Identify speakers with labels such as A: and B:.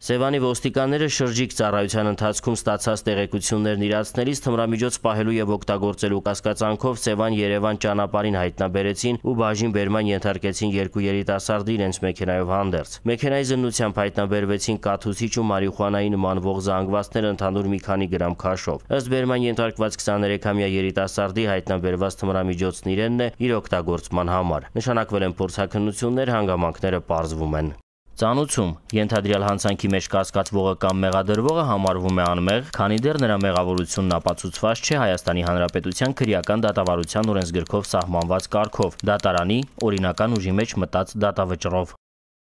A: Սևանի ոստիկանները շրջիկ ծառայության ընթացքում ստացած տեղեկություններն իրացնելիս թմրամիջոց պահելու և օգտագործելու կասկածանքով Սևան-Երևան ճանապարհին հայտնաբերեցին ու բաժին բերման ենթարկեցին երկու երիտասարդի իրենց մեքենայով հանդերձ։ Մեքենայի զննությամբ հայտնաբերվեցին կաթուցիչ ու մարիխուանայի նմանվող զանգվածներ ընդհանուր մի քանի գրամ քաշով։ Ըստ բերման ենթարկված 23-ամյա երիտասարդի հայտնաբերված թմրամիջոցն իրենն է իր օգտագործման համար։ Նշանակվել են փորձաքննություններ, հանգամանքները պարզվում են։ Ծանուցում ենթադրյալ հանցանքի մեջ կասկածվողը կամ մեղադրվողը համարվում է անմեղ, քանի դեռ նրա մեղավորությունն ապացուցված չէ Հայաստանի Հանրապետության քրեական դատավարության օրենսգրքով սահմանված կարգով՝ դատարանի օրինական ուժի մեջ մտած դատավճռով։